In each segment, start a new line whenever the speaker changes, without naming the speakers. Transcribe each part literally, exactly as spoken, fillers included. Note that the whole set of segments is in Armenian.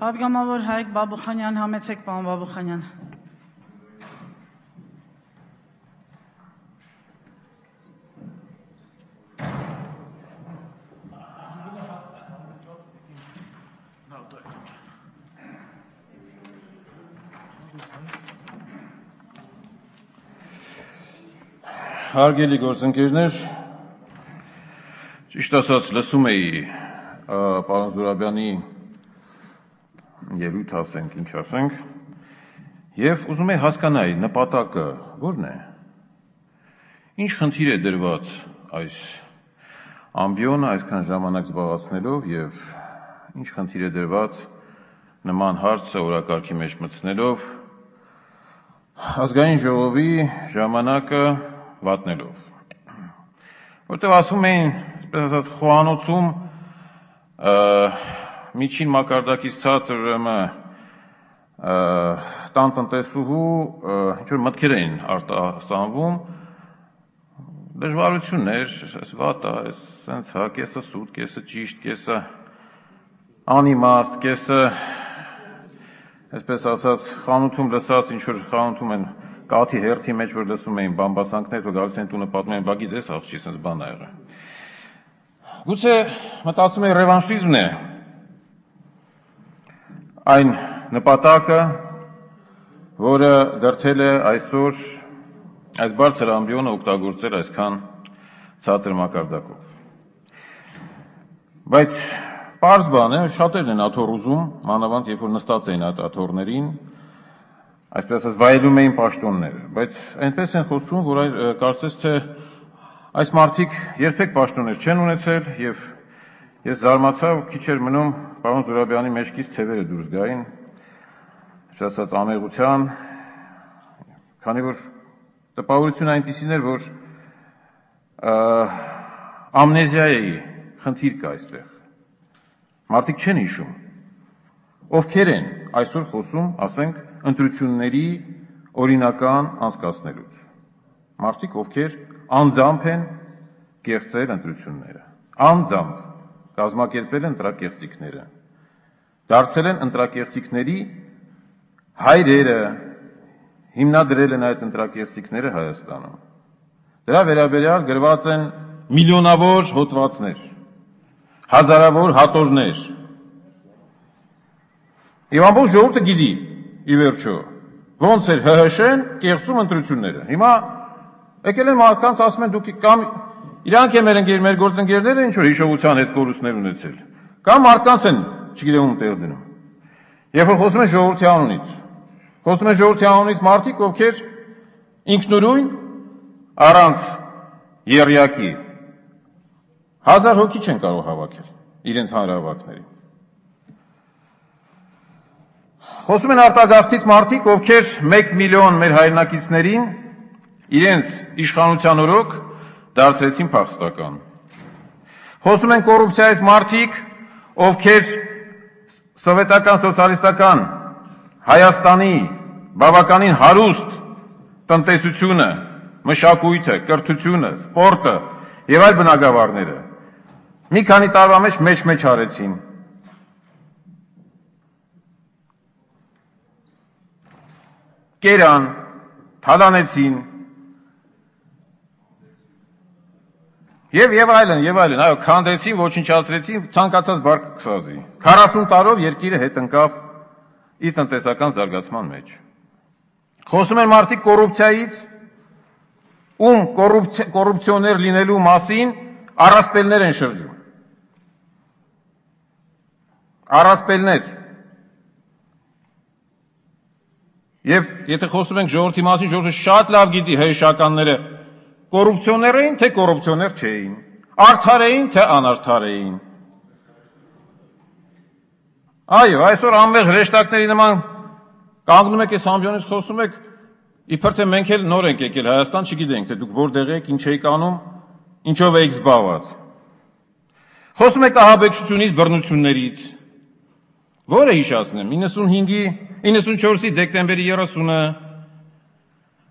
Պատգամավոր Հայկ Բաբուխանյան, համեցեք պարոն Բաբուխանյան։
Հարգելի գործընկերներ, ճիշտ ասած լսում էի պարոն Զուրաբյանի ելույթ ասենք, ինչ ասենք, և ուզում էի հասկանալ նպատակը որն է, ինչ խնդիր է դրված այս ամբիոնը այսքան ժամանակ զբաղացնելով և ինչ խնդիր է դրված նման հարցը օրակարգի մեջ մտցնելով ազգային ժողովի ժամանակը վատնելով, որտեղ ասում էին, այսպես ասած, խոհանոցում միջին մակարդակից ցածր տան տնտեսուհու ինչ-որ մտքեր էին արտասանվում, դժվարություններ, այս վատ է, սենց հա, կեսը սուտ, կեսը ճիշտ, կեսը անիմաստ, կեսը, այսպես ասած, խանութում լսած, ինչ-որ խանութում են կաթի հերթի մեջ, որ լսում էին բամբասանքներ, որ գալիս են տունը պատմում են, բա գիտես աղջի, սենց բան ա եղել։ Գուցե մտածում եմ ռևանշիզմն է այն նպատակը, որը դրդել է այսօր այս բարձր ամբիոնը օգտագործել այսքան ցածր մակարդակով։ Բայց պարզ բան է, շատերն են աթոռ ուզում, մանավանդ երբ որ նստած էին այդ աթոռներին, այսպես ասած վայելում էին պաշտոնները, բայց այնպես են խոսում, որ կարծես թե այս մարդիկ երբեք պաշտոններ չեն ունեցել և ես զարմացա, քիչ էր մնում պարոն Զուրաբյանի մեջքից թևերը դուրս գային, այսպես ասած ամեղության, քանի որ տպավորությունը այնպիսին էր, որ ամնեզիայի խնդիր կա այստեղ, մարդիկ չեն հիշում, ովքեր են այսօր խոսում, ասենք, ընտրությունների օրինական անցկացնելուց, մարդիկ, ովքեր անձամբ են կեղծել ընտրությունները, անձամբ կազմակերպել են ընտրակեղծիքները, դարձել են ընտրակեղծիքների հայրերը, հիմնադրել են այդ ընտրակեղծիքները Հայաստանում, դրա վերաբերյալ գրված են միլիոնավոր հոդվածներ, հազարավոր հատորներ, և ամբողջ ժողովուրդը գիտի, ի վերջո, ոնց էր Հ Հ Շ-ն կեղծում ընտրությունները, հիմա եկել են մարդկանց ասում են դուք կամ իրանք են մեր ընկեր, մեր գործընկերները ինչ-որ հիշողության հետ կորուստներ ունեցել, կամ մարդկանց են չգիտեմ ում տեղ դնում, երբ որ խոսում են ժողովրդի անունից, խոսում են ժողովրդի անունից մարդիկ, ովքեր ինքնուրույն առանց եռյակի հազար հոգի չեն կարող հավաքել իրենց հանրահավաքներին։ Խոսում են արտագաղթից մարդիկ, ովքեր մեկ միլիոն մեր հայրենակիցներին իրենց իշխանության օրոք դարձրեցին փախստական։ Խոսում են կոռուպցիայից մարդիկ, ովքեր սովետական սոցիալիստական Հայաստանի բավականին հարուստ տնտեսությունը, մշակույթը, կրթությունը, սպորտը և այլ բնագավառները մի քանի տարվա մեջ մեջ-մեջ արեցին։ Կերան, թալանեցին, և և այլն, և այլն, այո, քանդեցին, ոչնչացրեցին, ցանկացած բառ կսազի։ քառասուն տարով երկիրը հետ ընկավ իր տնտեսական զարգացման մեջ։ Խոսում են մարդիկ կոռուպցիայից, ում կոռուպցիոներ լինելու մասին առասպելներ են շրջում։ Առասպելներ։ Եվ եթե խոսում ենք ժողովրդի մասին, ժողովուրդը շատ լավ գիտի հեշականները կոռուպցիոներ էին, թե կոռուպցիոներ չէին, արդար էին, թե անարդար էին։ Այո, այսօր անվեղ հրեշտակների նման կանգնում եք այս ամբիոնից խոսում եք, իբր թե մենք էլ նոր ենք եկել Հայաստան, չգիտենք, թե դուք որտեղ եք, ինչ եք անում, ինչով եք զբաղված։ Խոսում եք ահաբեկչությունից, բռնություններից։ Որը հիշացնեմ, իննսունհինգի, իննսունչորսի դեկտեմբերի երեսունը,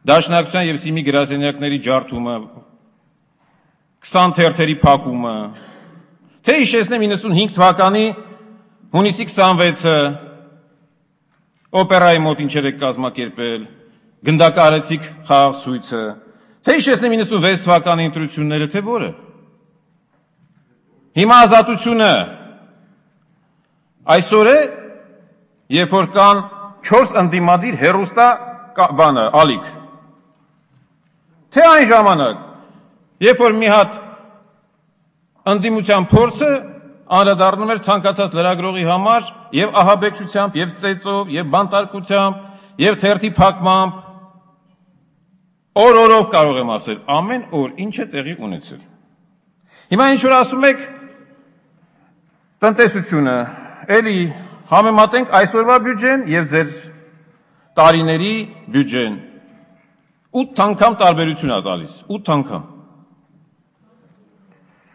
Դաշնակցության և Սիմի գրասենյակների ջարդումը, քսան թերթերի փակումը, թե հիշեցնեմ իննսունհինգ թվականի հունիսի քսանվեցը, օպերայի մոտ ինչեր եք կազմակերպել, գնդակահարեցիք խաղաղ ցույցը, թե հիշեցնեմ իննսունվեց թվականի ընտրությունները, թե որը։ Հիմա ազատությունը այսօր է, երբ որ կան չորս ընդդիմադիր հեռուստա բանը, ալիք։ Թե այն ժամանակ, երբ որ մի հատ ընդդիմության փորձը անդրադառնում էր ցանկացած լրագրողի համար եւ ահաբեկչությամբ, եւ ծեծով, եւ բանտարկությամբ, եւ թերթի փակմամբ, օր-օրով կարող եմ ասել, ամեն օր ինչ է տեղի ունեցել։ Հիմա ինչ որ ասում եք, տնտեսությունը, էլի համեմատենք այսօրվա բյուջեն եւ ձեր տարիների բյուջեն, ութ անգամ տարբերություն է տալիս, ութ անգամ։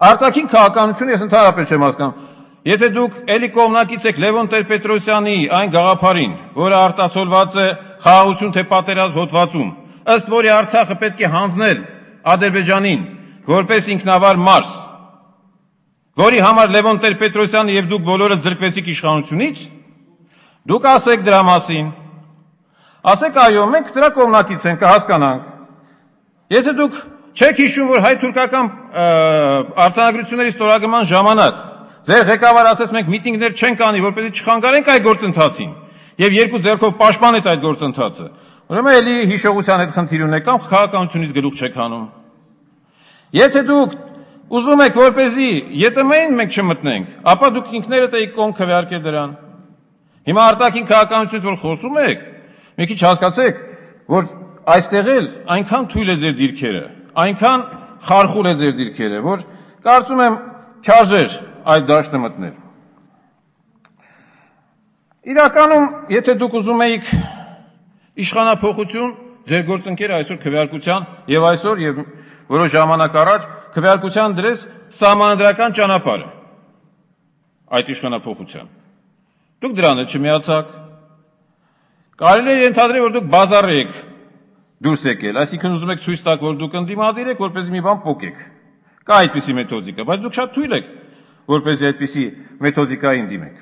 Արտաքին քաղաքականությունը ես ընդհանրապես չեմ հասկանում։ Եթե դուք էլի կողմնակից եք Լևոն Տեր-Պետրոսյանի այն գաղափարին, որը արտացոլված է խաղաղություն թե պատերազմ հոդվածում, ըստ որի Արցախը պետք է հանձնել Ադրբեջանին որպես ինքնավար մարզ, որի համար Լևոն Տեր-Պետրոսյանը եւ դուք բոլորը ձգվեցիք իշխանությունից, դուք ասեք դրա մասին։ Ասեք այո, մենք դրա կողմնակից ենք, կհասկանանք։ Եթե դուք չեք հիշում, որ հայ-թուրքական արձանագրությունների ստորագրման ժամանակ ձեր ղեկավարը ասեց մենք միտինգներ չենք անի, որպեսզի չխանգարենք այդ գործընթացին, եւ երկու ձեռքով պաշտպանեց այդ գործընթացը, ուրեմն էլի հիշողության հետ խնդիր ունեք կամ քաղաքականությունից գլուխ չեք հանում։ Եթե դուք ուզում եք, որպեսզի ԵՏՄ-ին մենք չմտնենք, ապա դուք ինքներդ եք կողմ քվեարկել դրան։ Հիմա արտաքին քաղաքականությունից որ խոսում եք, մի քիչ հասկացեք, որ այստեղ էլ այնքան թույլ է ձեր դիրքերը, այնքան խարխուլ է ձեր դիրքերը, որ կարծում եմ չարժեր այդ դաշտը մտնել։ Իրականում, եթե դուք ուզում էիք իշխանափոխություն, ձեր գործընկերը այսօր քվեարկության եւ այսօր եւ որոշ ժամանակ առաջ քվեարկության դրես սահմանադրական ճանապարհը այդ իշխանափոխության։ Դուք դրան էլ չմիացաք։ Կարելի է ենթադրել, որ դուք բազար եք դուրս եկել, այսինքն ուզում եք ցույց տաք, որ դուք ընդդիմադիր եք, որպեսզի մի բան փոկեք։ Կա այդպիսի մեթոդիկա, բայց դուք շատ թույլ եք, որպեսզի այդպիսի մեթոդիկային դիմեք։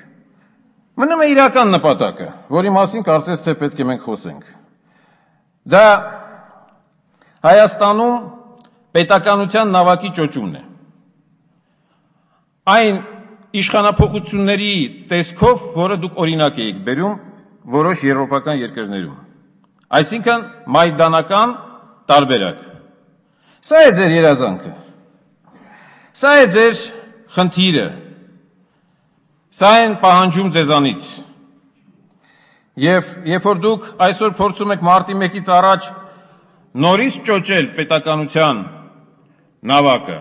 Մնում է իրական նպատակը, որի մասին կարծես թե պետք է մենք խոսենք։ Դա Հայաստանում պետականության նավակի ճոճումն է։ Այն իշխանափոխությունների տեսքով, որը դուք օրինակ եք բերում որոշ եվրոպական երկրներում, այսինքն մայդանական տարբերակ։ Սա է ձեր երազանքը, սա է ձեր խնդիրը, սա են պահանջում ձեզանից։ Եվ երբ որ դուք այսօր փորձում եք մարտի մեկից առաջ նորից ճոճել պետականության նավակը,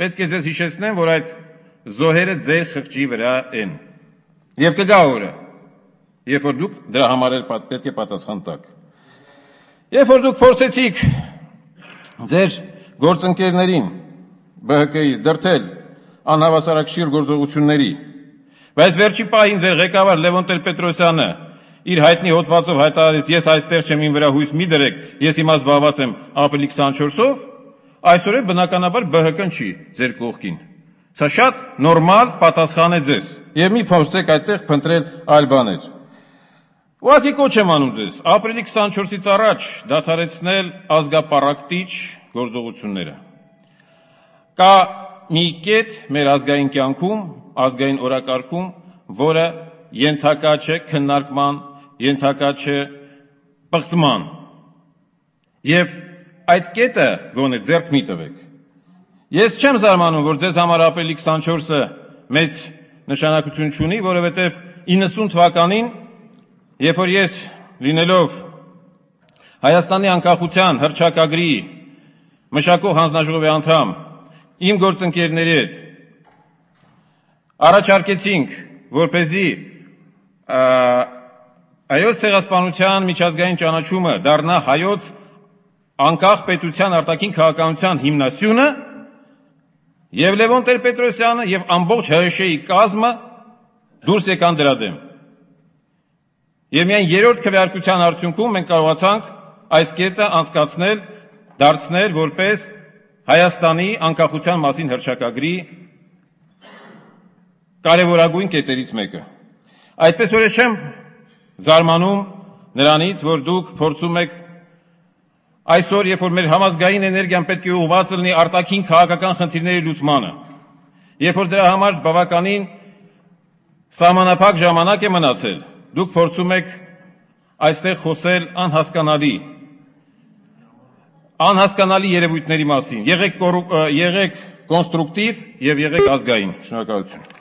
պետք է ձեզ հիշեցնեմ, որ այդ զոհերը ձեր խղճի վրա են։ Եվ կգա օրը, երբ որ դուք դրա համար էլ պետք է պատասխան տաք։ Երբ որ դուք փորձեցիք ձեր գործընկերներին B H K-ից դրդել անհավասարակշիռ գործողությունների, բայց վերջի պահին ձեր ղեկավար Լևոն Տեր-Պետրոսյանը իր հայտնի հոդվածով հայտարարեց, ես այստեղ չեմ, իմ վրա հույս մի դրեք, ես հիմա զբաղված եմ ապրիլի քսանչորսով, այսօր է բնականաբար B H K-ն չի ձեր կողքին։ Սա շատ նորմալ պատասխան է ձեզ, եւ մի փորձեք այդտեղ փնտրել այլ բաներ։ Ուղղակի կոչ եմ անում ձեզ, ապրիլի քսանչորսից առաջ դադարեցնել ազգապարակտիչ գործողությունները։ Կա մի կետ մեր ազգային կյանքում, ազգային օրակարգում, որը ենթակա չէ քննարկման, ենթակա չէ պղծման։ Եվ այդ կետը գոնե ձեռք մի տվեք։ Ես չեմ զարմանում, որ ձեզ համար ապրիլի քսանչորսը մեծ նշանակություն չունի, որովհետև իննսուն թվականին, երբ որ ես լինելով Հայաստանի անկախության հռչակագրի մշակող հանձնաժողովի անդամ, իմ գործընկերների հետ առաջարկեցինք, որպեսզի հայոց ցեղասպանության միջազգային ճանաչումը դառնա հայոց անկախ պետության արտաքին քաղաքականության հիմնասյունը, եւ Լևոն Տեր-Պետրոսյանը եւ ամբողջ H Շ ի կազմը դուրս եկան դրա դեմ։ Եվ միայն երրորդ քվեարկության արդյունքում մենք կարողացանք այս կետը անցկացնել, դարձնել որպես Հայաստանի անկախության մասին հռչակագրի կարևորագույն կետերից մեկը։ Այդպես որ ես չեմ զարմանում նրանից, որ դուք փորձում եք այսօր, երբ որ մեր համազգային էներգիան պետք է ուղղված լինի արտաքին քաղաքական խնդիրների լուծմանը, երբ որ դրա համար բավականին սահմանափակ ժամանակ է մնացել, դուք փորձում եք այստեղ խոսել անհասկանալի, անհասկանալի երևույթների մասին, եղեք կոնստրուկտիվ եւ եղեք ազգային։ Շնորհակալություն։